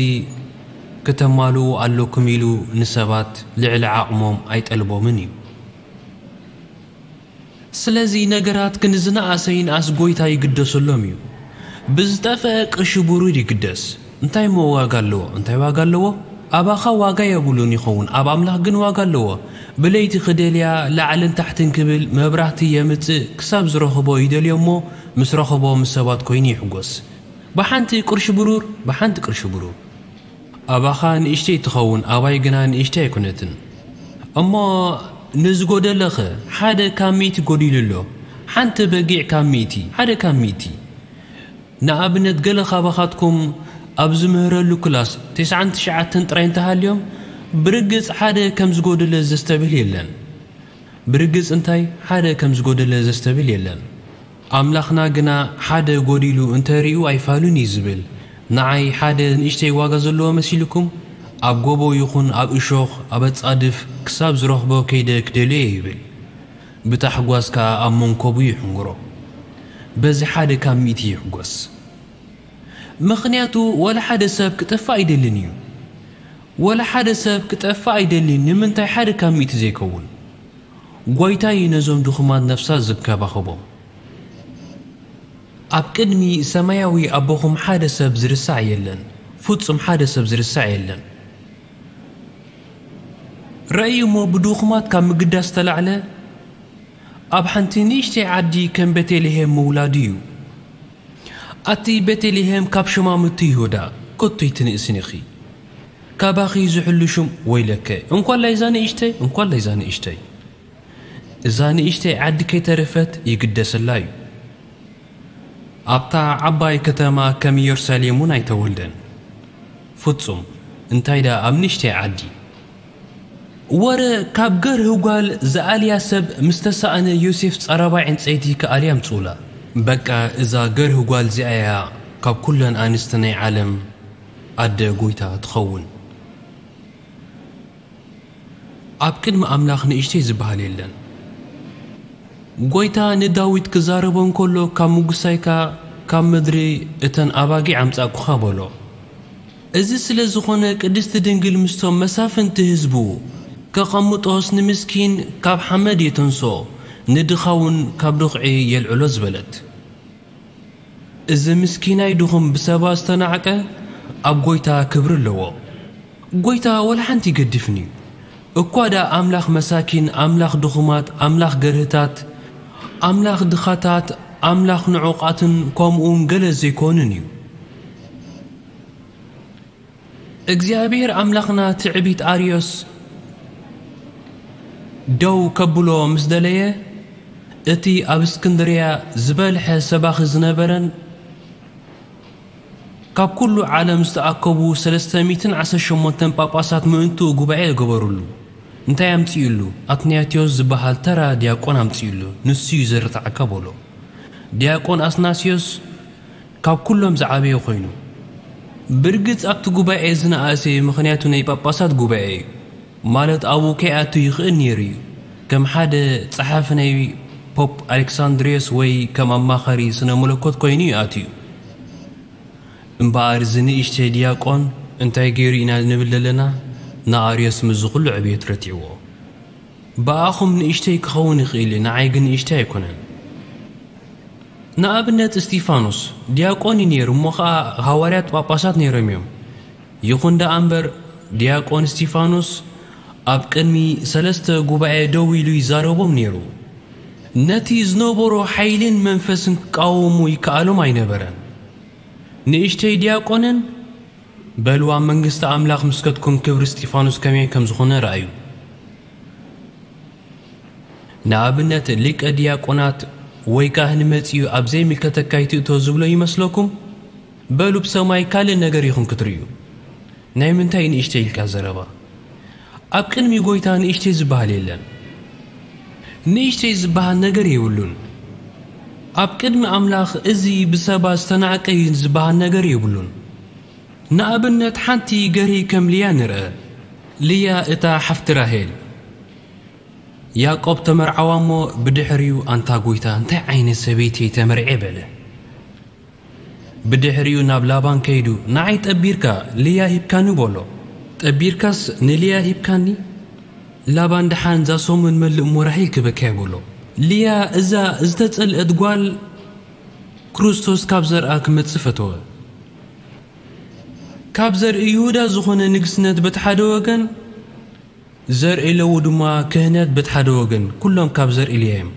ክተማልኡ ኣለኩም ኢሉ ንሰባት ልዕሊ ዓቕሞም ኣይጠልቦምን እዩ። ስለዚ ነገራት ክንዝነኣሰ ይንኣስ ጎይታ ይግደሰሎም እዩ። ብዝጠፍአ ቅርሺ ብሩር ይግደስ። እንታይ እሞ ዋጋ ኣለዎ? እንታይ ዋጋ ኣለዎ? ኣባኻ ዋጋ የብሉን ይኸውን፣ ኣብ ኣምላኽ ግን ዋጋ ኣለዎ። ብለይቲ ክደልያ ላዕልን ታሕትን ክብል መብራህቲ የምጽእ፣ ክሳብ ዝረኽቦ ይደልዮ እሞ ምስ ረኽቦ ምስ ሰባት ኮይኑ ይሕጎስ። ብሓንቲ ቅርሺ ብሩር፣ ብሓንቲ ቅርሺ ብሩር። ኣባኻ ንእሽተይ ትኸውን፣ ኣባይ ግና ንእሽተይ ኣይኮነትን። እሞ ንዝጎደለኸ ሓደ ካብ ሚእቲ ጎዲሉ ኣሎ። ሓንቲ በጊዕ ካብ ሚእቲ፣ ሓደ ካብ ሚእቲ። ንኣብነት ገለ ካባኻትኩም ኣብ ዝምህረሉ ክላስ ተስዓን ትሽዓተን ጥራይ እንተሃልዮም፣ ብርግጽ ሓደ ከም ዝጎደለ ዘስተብህል የለን። ብርግጽ እንታይ ሓደ ከም ዝጎደለ ዘስተብል የለን። ኣምላኽና ግና ሓደ ጎዲሉ እንተሪኡ ኣይፋሉን እዩ ዝብል። ንዓይ ሓደ ንእሽተይ ዋጋ ዘለዎ መሲልኩም? ኣብ ጎቦ ይኹን ኣብ እሾኽ፣ ኣብ ኣጻድፍ ክሳብ ዝረኽቦ ከይደ ክደልዮ እየ ይብል። ብታሕጓስ ከኣ ኣብ መንኮቡ ይሕንግሮ። በዚ ሓደ ካብ ሚእቲ ይሕጎስ። ምኽንያቱ ወላ ሓደ ሰብ ክጠፍእ ኣይደልን እዩ። ወላ ሓደ ሰብ ክጠፍእ ኣይደልን። ንምንታይ ሓደ ካብ ሚእቲ ዘይከውን? ጎይታ እዩ ነዞም ድኹማት ነፍሳት ዝከባኸቦም። ኣብ ቅድሚ ሰማያዊ ኣቦኹም ሓደ ሰብ ዝርሳዕ የለን። ፍጹም ሓደ ሰብ ዝርሳዕ የለን። ረእዩ እሞ ብድኹማት ካብ ምግዳስ ተላዕለ ኣብ ሓንቲ ንእሽተይ ዓዲ ከም ቤተልሔም ምውላዱ እዩ። ኣቲ ቤተልሔም ካብ ሸማምቲ ይሁዳ፣ ከቶ ኣይትንእስን ኢኺ። ካባኺ ዝሕሉ ሹም ወይለከ። እንኳላይ እዛ ንእሽተይ፣ እንኳላይ እዛ ንእሽተይ። እዛ ንእሽተይ ዓዲ ከይተረፈት ይግደሰላ እዩ። ኣብታ ዓባይ ከተማ ከም ኢየሩሳሌም እውን ኣይተወልደን። ፍጹም፣ እንታይ ደኣ ኣብ ንእሽተይ ዓዲ። ወረ ካብ ገርህ ጓል ዝኣልያ ሰብ ምስ ተሳእነ ዮሴፍ ጸረባይ ዕንጸይቲ ክኣልያ ኣምጽኡላ። በቃ እዛ ገርህ ጓል እዚኣ እያ ካብ ኩለን ኣንስቲ ናይ ዓለም ኣደ ጎይታ ትኸውን። ኣብ ቅድሚ ኣምላኽ ንእሽተይ ዝበሃል የለን። ጎይታ ንዳዊት ክዛረቦ እንከሎ ካብ ምጉሳይካ ካብ ምድሪ እተን ኣባጊዕ ኣምጻእኩኻ በሎ። እዚ ስለ ዝኾነ ቅድስቲ ድንግል ምስቶም መሳፍንቲ ህዝቡ ከቐምጦስ ንምስኪን ካብ ሓመድ የተንስኦ፣ ንድኻ እውን ካብ ድኽዒ የልዕሎ ዝበለት። እዚ ምስኪናይ ድኹም ብሰባት ዝተናዕቀ ኣብ ጎይታ ክብሪ ኣለዎ። ጎይታ ወላ ሓንቲ ይገድፍን እዩ። እኳ ደኣ ኣምላኽ መሳኪን፣ ኣምላኽ ድኹማት፣ ኣምላኽ ገርህታት፣ ኣምላኽ ድኻታት፣ ኣምላኽ ንዑቓትን ከምኡውን ገለ ዘይኮኑን እዩ። እግዚኣብሔር ኣምላኽና ትዕቢት ኣርዮስ ደው ከብሎ ምስ ደለየ፣ እቲ ኣብ እስክንድርያ ዝበልሐ ሰባኺ ዝነበረን ካብ ኩሉ ዓለም ዝተኣከቡ ሰለስተ ሚእትን ዓሰርተ ሸሞንተን ጳጳሳት ምእንትኡ ጉባኤ ገበሩሉ። እንታይ ኣምጺኡሉ? ኣትናቴዎስ ዝበሃል ተራ ዲያቆን ኣምጺኡሉ። ንሱ እዩ ዘርትዓካ በሎ። ዲያቆን ኣትናቴዎስ ካብ ኩሎም ዝዓበየ ኮይኑ፣ ብርግጽ ኣብቲ ጉባኤ ዝነኣሰ እዩ፣ ምኽንያቱ ናይ ጳጳሳት ጉባኤ እዩ። ማለት ኣብኡ ከይኣቱ ይኽእል ነይሩ እዩ። ከም ሓደ ጸሓፊ ናይ ፖፕ ኣሌክሳንድሪዮስ ወይ ከም ኣማኻሪ ስነ መለኮት ኮይኑ እዩ ኣትዩ። እምበኣር እዚ ንእሽተይ ዲያቆን እንታይ ገይሩ ኢና ንብል ዘለና? ንኣርዮስ ምስዚ ኩሉ ዕብየት ረቲዕዎ። ብኣኹም ንእሽተይ ክኸውን ይኽእል እዩ፣ ንዓይ ግን ንእሽተይ ኣይኮነን። ንኣብነት እስጢፋኖስ ዲያቆን እዩ ነይሩ፣ እሞ ኸዓ ሃዋርያት ጳጳሳት ነይሮም እዮም። ይኹን ደኣ እምበር ዲያቆን እስጢፋኖስ ኣብ ቅድሚ ሰለስተ ጉባኤ ደው ኢሉ ይዛረቦም ነይሩ። ነቲ ዝነበሮ ሓይልን መንፈስን ክቃወሙ ይከኣሎም ኣይነበረን። ንእሽተይ ዲያቆንን በልዋ መንግስቲ ኣምላኽ ምስከትኩም ክብሪ እስጢፋኖስ ከመይ ከም ዝኾነ ረኣዩ። ንኣብነት ሊቀ ዲያቆናት ወይ ካህን መጺኡ ኣብ ዘይምልከተካ ይትእቶ ዝብሎ ይመስለኩም? በሉ ብሰማይ ካልእ ነገር ኢኹም ክትርእዩ። ናይ ምንታይ ንእሽተይ ኢልካ ዘረባ? ኣብ ቅድሚ ጎይታ ንእሽተይ ዝበሃል የለን። ንእሽተይ ዝበሃል ነገር የብሉን። ኣብ ቅድሚ ኣምላኽ እዚ ብሰባት ዝተናዕቀ እዩ ዝበሃል ነገር የብሉን። ንኣብነት ሓንቲ ገርሂ ከም ልያ ንርአ። ልያ እታ ሓፍቲ ራሄል። ያዕቆብ ተመርዓዋ እሞ ብድሕሪኡ ኣንታ ጎይታ እንታይ ዓይነት ሰበይቲ እየ ተመርዔ በለ። ብድሕሪኡ ናብ ላባን ከይዱ ንዓይ ጠቢርካ ልያ ሂብካኒ በሎ። ጠቢርካስ ንልያ ሂብካኒ? ላባን ደሓን እዛ ሰሙን መልእ እሞ ራሄል ክበካ እዩ በሎ። ልያ እዛ ዝተጸልአት ጓል ክርስቶስ ካብ ዘርኣ ክመጽእ ፈተወ። ካብ ዘርኢ ይሁዳ ዝኾነ ንግስነት በቲ ሓደ ወገን፣ ዘርኢ ለዉ ድማ ክህነት በቲ ሓደ ወገን፣ ኩሎም ካብ ዘርኢ ልያ እዮም።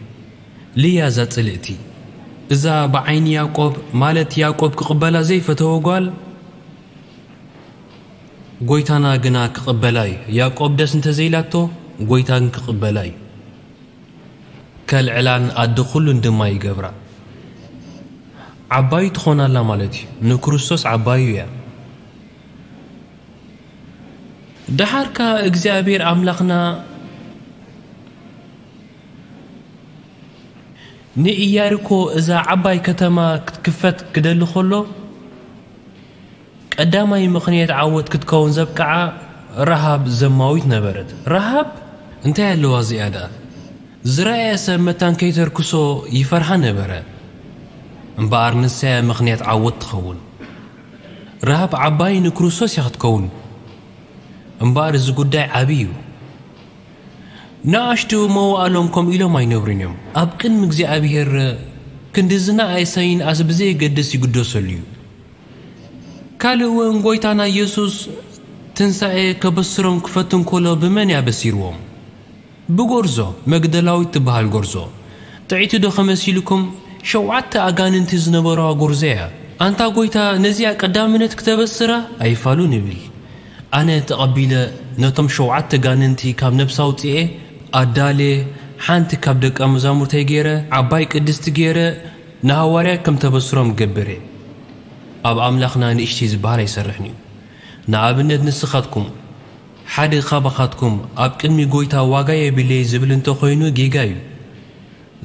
ልያ እዛ ጽልእቲ፣ እዛ ብዓይኒ ያዕቆብ ማለት ያዕቆብ ክቕበላ ዘይፈተወ ጓል፣ ጎይታና ግና ክቕበላ እዩ። ያዕቆብ ደስ እንተዘይላቶ፣ ጎይታ ግን ክቕበላ እዩ። ከልዕላን ኣደ ኩሉን ድማ ይገብራ። ዓባዩ ትኾናላ ማለት እዩ። ንክርስቶስ ዓባዩ እያ። ደሓርካ እግዚኣብሔር ኣምላኽና ንኢያሪኮ እዛ ዓባይ ከተማ ክትክፈት ክደሊ ከሎ ቀዳማይ ምኽንያት ዓወት ክትከውን ዘብቅዓ ረሃብ ዘማዊት ነበረት። ረሃብ እንታይ ኣለዋ እዚኣ ደኣ? ዝረኣየ ሰብ መታን ከይተርክሶ ይፈርሃ ነበረ። እምበኣር ንሳ እያ ምኽንያት ዓወት ትኸውን። ረሃብ ዓባይ ንክርስቶስ እያ ክትከውን። እምበኣር እዚ ጉዳይ ዓብዪ እዩ። ንኣሽቱ መዋእሎም ከምኡ ኢሎም ኣይነብሩን እዮም። ኣብ ቅድሚ እግዚኣብሔር ክንዲ ዝነኣሰ ይንኣስ ብዘየገድስ ይግደሰሉ እዩ። ካልእ እውን ጎይታና ኢየሱስ ትንሳኤ ከበስሮም ክፈትን ከሎ ብመን እያ በሲርዎም? ብጎርዞ መግደላዊት ትበሃል ጎርዞ። ጥዕይቲ ዶ ከመሲልኩም? ሸውዓተ ኣጋንንቲ ዝነበረዋ ጎርዞ እያ። ኣንታ ጎይታ ነዚኣ ቀዳምነት ክተበስራ ኣይፋሉን ይብል። ኣነ ተቐቢለ ነቶም ሸውዓተ ጋንንቲ ካብ ነብሳ ኣውፅኤ ኣዳልየ ሓንቲ ካብ ደቀ መዛሙርተይ ገይረ ዓባይ ቅድስቲ ገይረ ንሃዋርያ ከም ተበስሮም ገብር እየ። ኣብ ኣምላኽና ንእሽተይ ዝበሃል ኣይሰርሕን እዩ። ንኣብነት ንስኻትኩም ሓደ ካባኻትኩም ኣብ ቅድሚ ጎይታ ዋጋ የብለይ ዝብል እንተኾይኑ ጌጋ እዩ።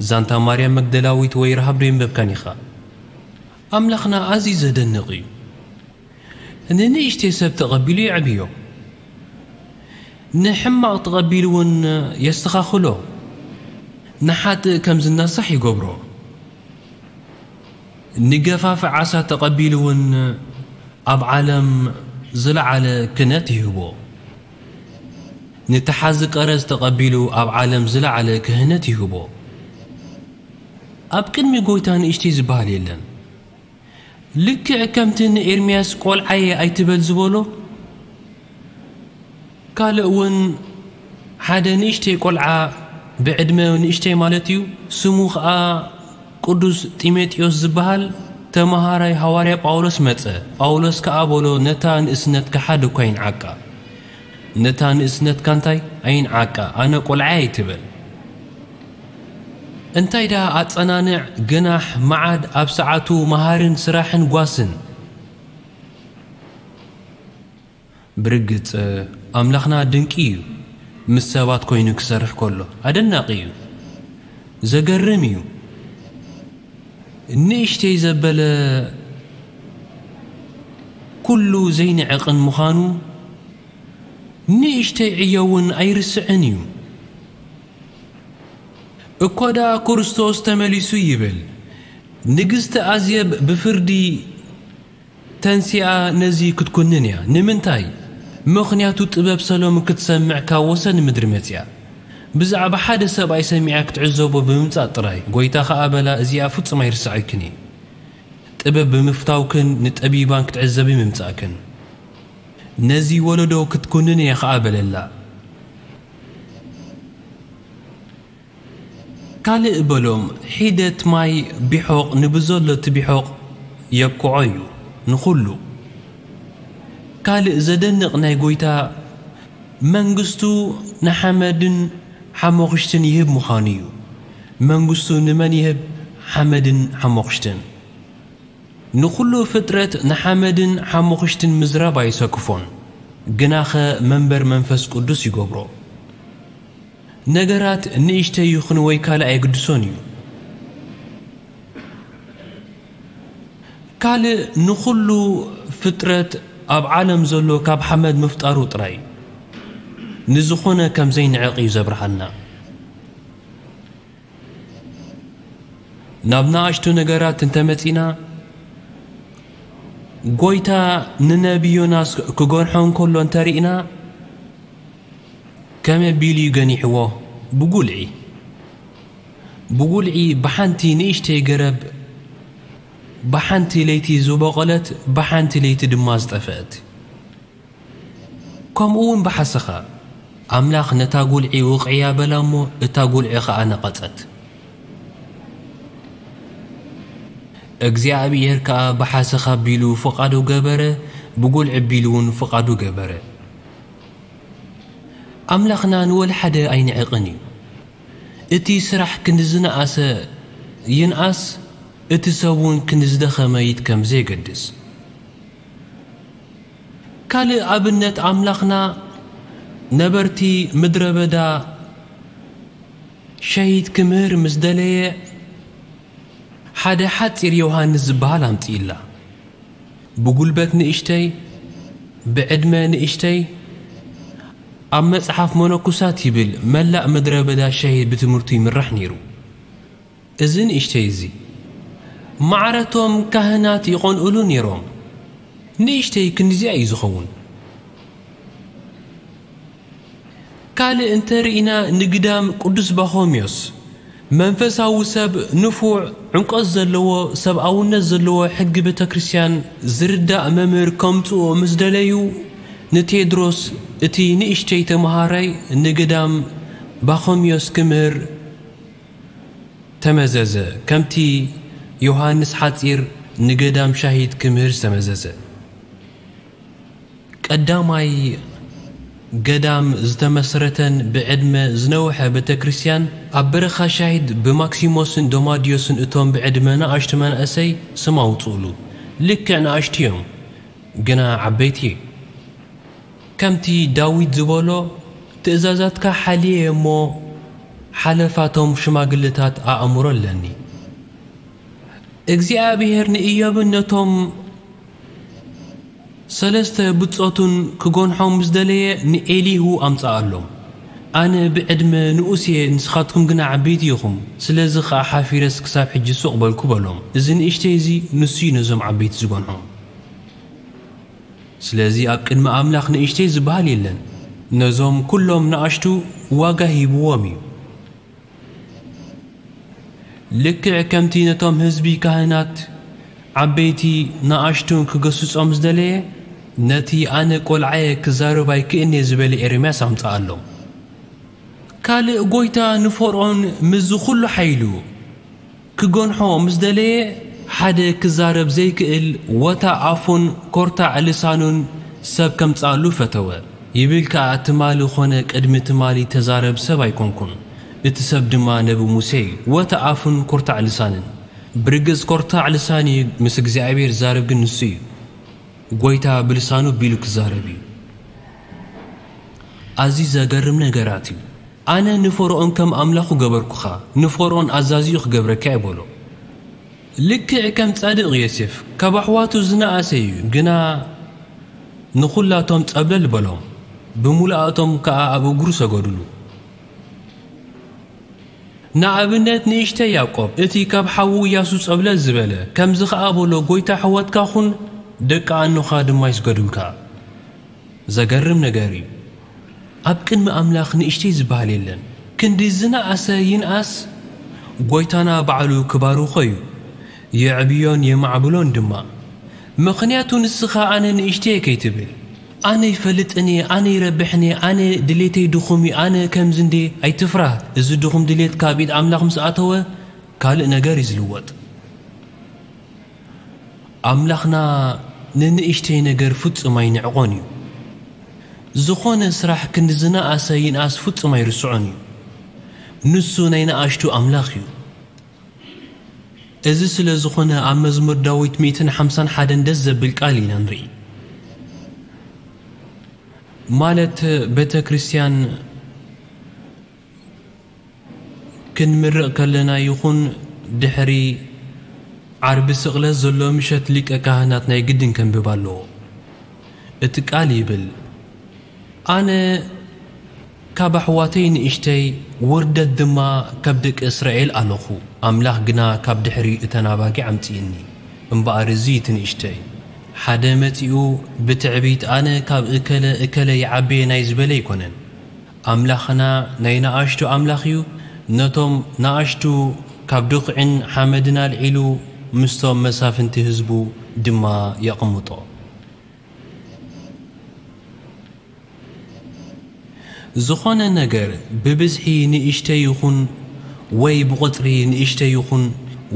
ዛንታ ማርያም መግደላዊት ወይ ረሃብ ዶ የንበብካን ኢኻ? ኣምላኽና ኣዝዩ ዘደንቕ እዩ። ንንእሽተይ ሰብ ተቐቢሉ የዕብዮ፣ ንሕማቕ ተቐቢሉ እውን የስተኻኽሎ፣ ንሓጥእ ከም ዝናሳሕ ይገብሮ። ንገፋፊ ዓሳ ተቐቢሉ እውን ኣብ ዓለም ዝለዓለ ክነት ይህቦ። ንተሓዚ ቀረጽ ተቐቢሉ ኣብ ዓለም ዝለዓለ ክህነት ይህቦ። ኣብ ቅድሚ ጎይታ ንእሽተይ ዝበሃል የለን። ልክዕ ከምቲ ንኤርምያስ ቆልዓየ ኣይትበል ዝበሎ፣ ካልእ እውን ሓደ ንእሽተይ ቆልዓ፣ ብዕድመ ንእሽተይ ማለት እዩ፣ ስሙ ኸዓ ቅዱስ ጢሞቴዎስ ዝበሃል ተመሃራይ ሃዋርያ ጳውሎስ መጸ። ጳውሎስ ከኣ በሎ፣ ነታ ንእስነትካ ሓደ እኳ ይንዓቃ። ነታ ንእስነትካ እንታይ ኣይንዓቃ፣ ኣነ ቆልዓ ኣይትበል። እንታይ ደኣ ኣጸናንዕ፣ ገናሕ፣ መዓድ፣ ኣብ ሰዓቱ፣ መሃርን ስራሕን ጓስን። ብርግጽ ኣምላኽና ድንቂ እዩ። ምስ ሰባት ኮይኑ ክሰርሕ ከሎ ኣደናቂ እዩ። ዘገርም እዩ። ንእሽተይ ዘበለ ኩሉ ዘይንዕቕን ምዃኑ ንእሽተይ ዕዮ እውን ኣይርስዕን እዩ። እኳ ደኣ ክርስቶስ ተመሊሱ ይብል፣ ንግስቲ ኣዜብ ብፍርዲ ተንሲኣ ነዚ ክትኩንን እያ። ንምንታይ? ምኽንያቱ ጥበብ ሰሎሞን ክትሰምዕ ካብ ወሰን ምድሪ መጺኣ። ብዛዕባ ሓደ ሰብኣይ ሰሚዓ ክትዕዘቦ ብምምጻእ ጥራይ። ጎይታ ኸኣ በላ፣ እዚኣ ፍጹም ኣይርሳዐክን እየ። ጥበብ ብምፍታውክን ንጠቢባን ክትዕዘቢ ምምጻእክን። ነዚ ወለዶ ክትኩንን እየ ኸኣ በለላ። ካልእ በሎም፣ ሒደት ማይ ቢሖቕ ንብዘሎ እቲ ቢሖቕ የብቅዖ እዩ፣ ንኹሉ። ካልእ ዘደንቕ ናይ ጎይታ መንግስቱ ንሓመድን ሓሞኽሽትን ይህብ ምዃኑ እዩ። መንግስቱ ንመን ይህብ? ሓመድን ሓሞኽሽትን። ንኹሉ ፍጥረት ንሓመድን ሓሞኽሽትን ምዝራብ ኣይሰክፎን፣ ግናኸ መንበር መንፈስ ቅዱስ ይገብሮ። ነገራት ንእሽተይ ይኹን ወይ ካልእ ኣይግድሶን እዩ። ካልእ ንኹሉ ፍጥረት ኣብ ዓለም ዘሎ ካብ ሓመድ ምፍጣሩ ጥራይ ንዝኾነ ከም ዘይንዕቕ እዩ ዘብርሃልና። ናብ ንኣሽቱ ነገራት እንተመጺና፣ ጎይታ ንነቢ ዮናስ ክገንሖ እንከሎ እንተሪእና፣ ከመይ ኣቢሉ እዩ ገኒሕዎ? ብጉልዒ። ብጉልዒ ብሓንቲ ንእሽተይ ገረብ፣ ብሓንቲ ለይቲ ዝበቖለት፣ ብሓንቲ ለይቲ ድማ ዝጠፍአት። ከምኡ እውን ብሓሰኻ፣ ኣምላኽ ነታ ጉልዒ ውቕዕያ በላ እሞ፣ እታ ጉልዒ ኸኣ ነቐጸት። እግዚኣብሔር ከኣ ብሓሰኻ ኣቢሉ ፍቓዱ ገበረ፣ ብጉልዒ ኣቢሉ እውን ፍቓዱ ገበረ። ኣምላኽና ንወላ ሓደ ኣይንዕቕን እዩ። እቲ ስራሕ ክንዲ ዝነኣሰ ይንኣስ፣ እቲ ሰብ እውን ክንዲ ዝደኸመ ይድከም፣ ብዘየገድስ። ካልእ ኣብነት፣ ኣምላኽና ነበርቲ ምድረ በዳ ሸሂድ ክምህር ምስ ደለየ፣ ሓደ ሓጺር ዮሃንስ ዝበሃል ኣምጺእላ። ብጉልበት ንእሽተይ፣ ብዕድመ ንእሽተይ፣ ኣብ መጽሓፍ መነኩሳት ይብል፣ መላእ ምድረ በዳ ሸሂድ ብትምህርቱ ይምራሕ ነይሩ። እዚ ንእሽተይ እዚ፣ ማዕረቶም ካህናት ይቐንኡሉ ነይሮም። ንእሽተይ ክንዲዚኣ እዩ ዝኸውን። ካልእ እንተ ርኢና፣ ንግዳም ቅዱስ ባኾምዮስ፣ መንፈሳዊ ሰብ፣ ንፉዕ፣ ዕምቆት ዘለዎ፣ ሰብኣውነት ዘለዎ፣ ሕጊ ቤተ ክርስቲያን ዝርዳእ መምህር ከምጽኦ ምስ ደለዩ፣ ንቴድሮስ እቲ ንእሽተይ ተመሃራይ ንግዳም ባኾምዮስ ክምህር ተመዘዘ፣ ከምቲ ዮሃንስ ሓጺር ንገዳም ሻሂድ ክምህር ዝተመዘዘ። ቀዳማይ ገዳም ዝተመስረተን ብዕድመ ዝነውሐ ቤተ ክርስቲያን ኣብ በረኻ ሻሂድ ብማክሲሞስን ዶማዲዮስን፣ እቶም ብዕድመ ንኣሽቱ መናእሰይ፣ ስም ኣውጽኡሉ። ልክዕ ንኣሽቱ እዮም፣ ግና ዓበይቲ። ከምቲ ዳዊት ዝበሎ፣ ትእዛዛትካ ሓልየ እሞ፣ ሓለፋቶም ሽማግለታት ኣእምሮ ኣለኒ። እግዚኣብሔር ንኢዮብን ነቶም ሰለስተ ብጾቱን ክጎንሖም ምስ ደለየ፣ ንኤሊሁ ኣምጽኣሎም። ኣነ ብዕድመ ንኡስ እየ፣ ንስኻትኩም ግና ዓበይቲ ኢኹም። ስለዚ ኸኣ ሓፊረስ ክሳብ ሕጂ ሱቕ በልኩ በሎም። እዚ ንእሽተይ እዚ ንሱ እዩ ነዞም ዓበይቲ ዝጎንሖም። ስለዚ ኣብ ቅድሚ ኣምላኽ ንእሽተይ ዝበሃል የለን። ነዞም ኩሎም ንኣሽቱ ዋጋ ሂብዎም እዩ። ልክዕ ከምቲ ነቶም ህዝቢ ካህናት ዓበይቲ ንኣሽቱ ክገስጾም ዝደለየ፣ ነቲ ኣነ ቆልዓየ ክዛረብ ኣይክእልን'የ ዝበለ ኤርምያስ ኣምጽኣሎም። ካልእ ጎይታ ንፈርዖን ምስዚ ኩሉ ሓይሉ ክገንሖ ምስ ደለየ፣ ሓደ ክዛረብ ዘይክእል ወታ ኣፉን ኮርታዕ ልሳኑን ሰብ ከምጽኣሉ ፈተወ። ይብል ከኣ፣ ትማሊ ኾነ ቅድሚ ትማሊ ተዛረብ ሰብ ኣይኮንኩን፣ እቲ ሰብ ድማ ነቢ ሙሴ እዩ። ወታ ኣፉን ኮርታዕ ልሳንን። ብርግጽ ኮርታዕ ልሳን እዩ፣ ምስ እግዚኣብሔር ዝዛረብ ግን ንሱ እዩ። ጎይታ ብልሳኑ ቢሉ ክዛረብ እዩ። ኣዝዩ ዘገርም ነገራት እዩ። ኣነ ንፈርኦን ከም ኣምላኹ ገበርኩኻ፣ ንፈርኦን ኣዛዚኡ ክገብረካ እየ በሎ። ልክዕ ከም ጻድቕ ዮሴፍ፣ ካብ ኣሕዋቱ ዝነኣሰ እዩ፣ ግና ንኹላቶም ጸብለል በሎም፣ ብምሉኣቶም ከኣ ኣብ እግሩ ሰገዱሉ። ንኣብነት ንእሽተይ ያዕቆብ፣ እቲ ካብ ሓዉ እያሱ ጸብለል ዝበለ፣ ከምዚ ኸኣ በሎ፣ "ጐይታ ኣሕዋትካ ኹን፣ ደቂ ኣኖኻ ድማ ይስገዱልካ።" ዘገርም ነገር እዩ። ኣብ ቅድሚ ኣምላኽ ንእሽተይ ዝበሃል የለን። ክንዲ ዝነኣሰ ይንኣስ፣ ጐይታና ባዕሉ ክባርኾ እዩ። የዕብዮን የማዕብሎን ድማ። ምኽንያቱ ንስኻ ኣነ ንእሽተይ ከይትብል። ኣነ ይፈልጥን እየ፣ ኣነ ይረብሕን እየ፣ ኣነ ድሌተይ ድኹም እዩ፣ ኣነ ከምዚ እንዴ ኣይትፍራህ። እዚ ድኹም ድሌት ካብ ኢድ ኣምላኽ ምስ ኣተወ፣ ካልእ ነገር እዩ ዝልወጥ። ኣምላኽና ንንእሽተይ ነገር ፍጹም ኣይንዕቖን እዩ። ዝኾነ ስራሕ ክንዲ ዝነኣሰ ይንኣስ ፍጹም ኣይርስዖን እዩ። ንሱ ናይ ንኣሽቱ ኣምላኽ እዩ። እዚ ስለ ዝኾነ ኣብ መዝሙር ዳዊት ሚእትን ሓምሳን ሓደን ደስ ዘብል ቃል ኢና ንርኢ። ማለት ቤተ ክርስቲያን ክንምርቕ ከለና ይኹን ድሕሪ ዓርቢ ስቕለት ዘሎ ምሸት ሊቀ ካህናት ናይ ግድን ከንብብ ኣለዎ። እቲ ቃል ይብል፣ "ኣነ ካብ ኣሕዋተይ ንእሽተይ፣ ውርደት ድማ ካብ ደቂ እስራኤል ኣለኹ፣ ኣምላኽ ግና ካብ ድሕሪ እተን ኣባጊዕ ኣምጽእኒ። እምበኣር እዚ እቲ ንእሽተይ፣ ሓደ መጺኡ ብትዕቢት ኣነ ካብ እከለ እከለ ይዓቢ እየ ናይ ዝበለ ኣይኮነን። ኣምላኽና ናይ ንኣሽቱ ኣምላኽ እዩ፣ ነቶም ንኣሽቱ ካብ ድኹዒን ሓመድን ኣልዒሉ ምስቶም መሳፍንቲ ህዝቡ ድማ የቕምጦ። ዝኾነ ነገር ብብዝሒ ንእሽተይ ይኹን ወይ ብቑጽሪ ንእሽተይ ይኹን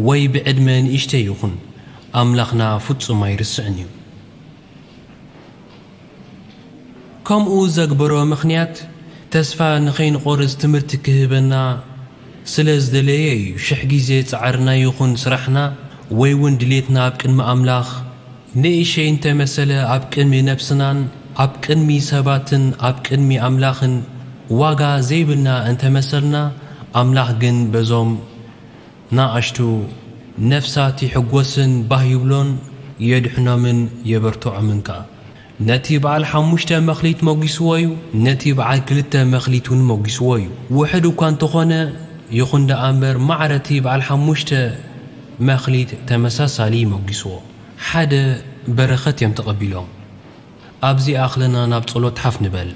ወይ ብዕድመ ንእሽተይ ይኹን፣ ኣምላኽና ፍጹም ኣይርስዕን እዩ።" ከምኡ ዘግበሮ ምኽንያት፣ ተስፋ ንኸይንቖርጽ ትምህርቲ ክህበና ስለ ዝደለየ እዩ። ሽሕ ግዜ ጻዕርና ይኹን ስራሕና ወይ እውን ድሌትና ኣብ ቅድሚ ኣምላኽ ንእሸይ እንተመሰለ፣ ኣብ ቅድሚ ነብስናን ኣብ ቅድሚ ሰባትን ኣብ ቅድሚ ኣምላኽን ዋጋ ዘይብልና እንተመሰልና፣ ኣምላኽ ግን በዞም ንኣሽቱ ነፍሳት ይሕጎስን ባህ ይብሎን የድሕኖምን የበርትዖምን ከኣ። ነቲ በዓል ሓሙሽተ መኽሊት መጒስዎ እዩ፣ ነቲ በዓል ክልተ መኽሊት እውን መጒስዎ እዩ። ውሑድ እኳ እንተኾነ ይኹን ደኣ እምበር፣ ማዕረ እቲ በዓል ሓሙሽተ መኽሊት ተመሳሳሊ መጒስዎ። ሓደ በረኸት እዮም ተቐቢሎም። ኣብዚ ኣኽለና ናብ ጸሎት ሓፍ ንበል።